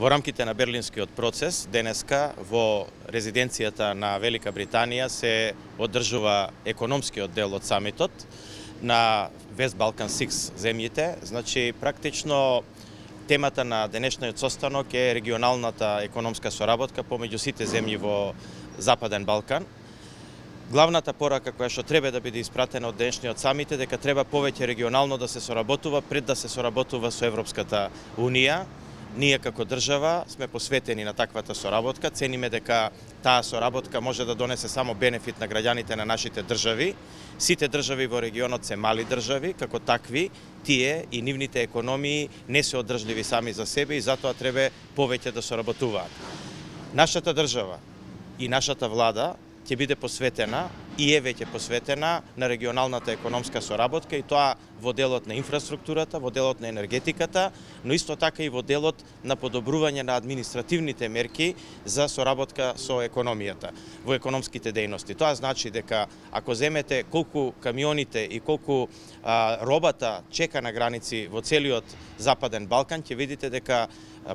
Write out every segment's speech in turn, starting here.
Во рамките на Берлинскиот процес, денеска во резиденцијата на Велика Британија се одржува економскиот дел од самитот на West Balkan 6 земјите. Значи, практично, темата на денешниот состанок е регионалната економска соработка помеѓу сите земји во Западен Балкан. Главната порака која што треба да биде испратена од денешниот самит е дека треба повеќе регионално да се соработува пред да се соработува со Европската Унија. Ние како држава сме посветени на таквата соработка, цениме дека таа соработка може да донесе само бенефит на граѓаните на нашите држави. Сите држави во регионот се мали држави, како такви, тие и нивните економии не се одржливи сами за себе и затоа треба повеќе да соработуваат. Нашата држава и нашата влада ќе биде посветена и е веќе посветена на регионалната економска соработка и тоа во делот на инфраструктурата, во делот на енергетиката, но исто така и во делот на подобрување на административните мерки за соработка со економијата, во економските дејности. Тоа значи дека ако земете колку камионите и колку робата чека на граници во целиот Западен Балкан, ќе видите дека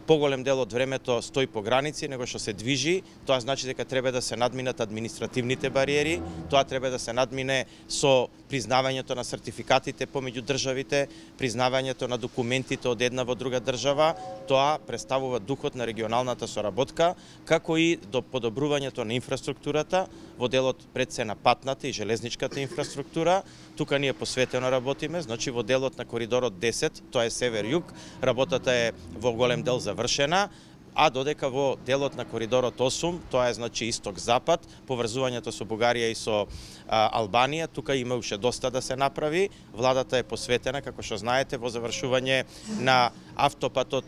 поголем дел од времето стои по граници, него што се движи, тоа значи дека треба да се надминат административните бариери, тоа треба да се надмине со признавањето на сертификатите помеѓу државите, признавањето на документите од една во друга држава, тоа представува духот на регионалната соработка, како и до подобрувањето на инфраструктурата, во делот пред се на патната и железничката инфраструктура. Тука ние посветено работиме, значи во делот на коридорот 10, тоа е север-југ, работата е во голем дел завршена, а додека во делот на коридорот 8, тоа е значи исток-запад, поврзувањето со Бугарија и со Албанија, тука има уште доста да се направи. Владата е посветена, како што знаете, во завршување на автопатот,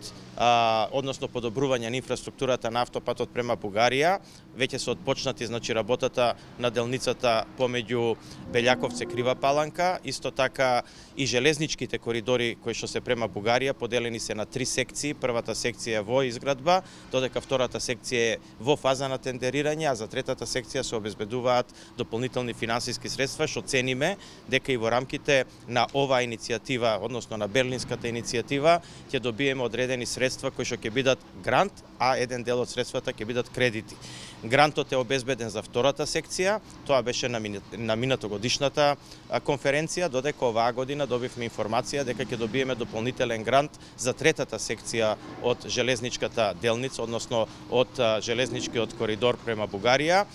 односно подобрување на инфраструктурата на автопатот према Бугарија. Веќе се отпочнати значи работата на делницата помеѓу Белјаковце Крива Паланка, исто така и железничките коридори кои што се према Бугарија поделени се на 3 секции. Првата секција во изградба, додека втората секција е во фаза на тендерирање, а за третата секција се обезбедуваат дополнителни финансиски средства, што цениме дека и во рамките на оваа иницијатива, односно на Берлинската иницијатива, ќе добиеме одредени средства кои што ќе бидат грант, а еден дел од средствата ќе бидат кредити. Грантот е обезбеден за втората секција, тоа беше на минатогодишната конференција, додека оваа година добивме информација дека ќе добиеме дополнителен грант за третата секција од железничката делница, односно од железничкиот коридор према Бугарија,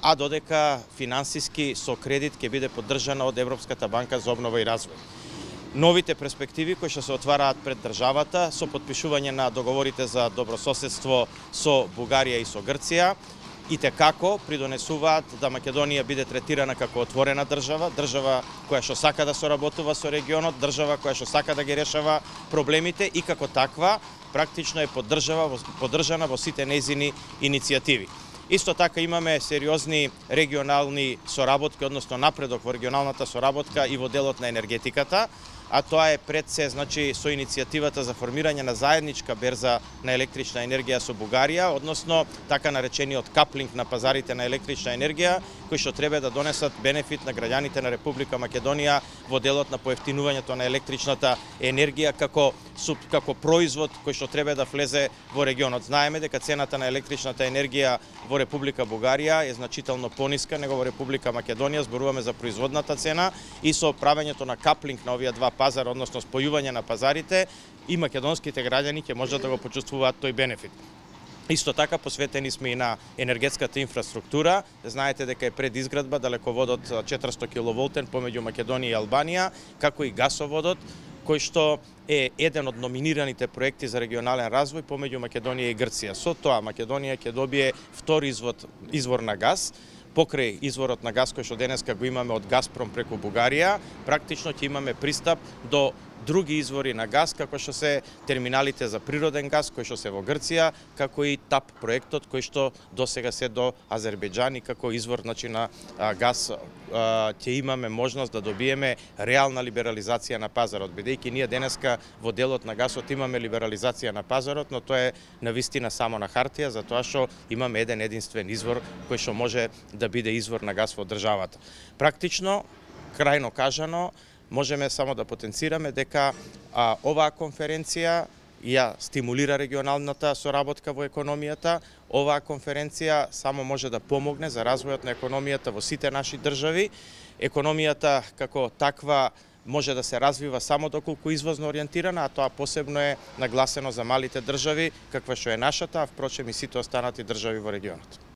а додека финансиски со кредит ќе биде поддржана од Европската банка за обнова и развој. Новите перспективи кои што се отвараат пред државата со подпишување на договорите за добрососедство со Бугарија и со Грција и како придонесуваат да Македонија биде третирана како отворена држава, држава која што сака да соработува со регионот, држава која што сака да ги решава проблемите и како таква практично е поддржана во сите нејзини иницијативи. Исто така имаме сериозни регионални соработки, односно напредок во регионалната соработка и во делот на енергетиката, а тоа е пред се значи со иницијативата за формирање на заедничка берза на електрична енергија со Бугарија, односно така наречениот каплинг на пазарите на електрична енергија, кои што треба да донесат бенефит на граѓаните на Република Македонија во делот на поевтинувањето на електричната енергија како производ кој што треба да влезе во регионот. Знаеме дека цената на електричната енергија во Република Бугарија е значително пониска него во Република Македонија, зборуваме за производната цена и со правењето на каплинг на овие два пазар, односно спојување на пазарите, и македонските граѓани ќе можат да го почувствуваат тој бенефит. Исто така посветени сме и на енергетската инфраструктура. Знаете дека е пред изградба далеководот 400 киловолтен помеѓу Македонија и Албанија, како и гасоводот, кој што е еден од номинираните проекти за регионален развој помеѓу Македонија и Грција. Со тоа Македонија ќе добие втори извор на газ, покрај изворот на газ кој што денеска го имаме од Газпром преку Бугарија, практично ќе имаме пристап до други извори на газ, како што се терминалите за природен газ, кои што се во Грција, како и ТАП проектот, кој што досега се до Азербејџан и како извор значи, на газ ќе имаме можност да добиеме реална либерализација на пазарот, бидејќи ние денеска во делот на газот имаме либерализација на пазарот, но тоа е навистина само на хартија, затоа што имаме еден единствен извор кој што може да биде извор на газ во државата. Практично, крајно кажано, можеме само да потенцираме дека оваа конференција ја стимулира регионалната соработка во економијата. Оваа конференција само може да помогне за развојот на економијата во сите наши држави. Економијата како таква може да се развива само доколку извозно ориентирана, а тоа посебно е нагласено за малите држави, каква што е нашата, а впрочем и сите останати држави во регионот.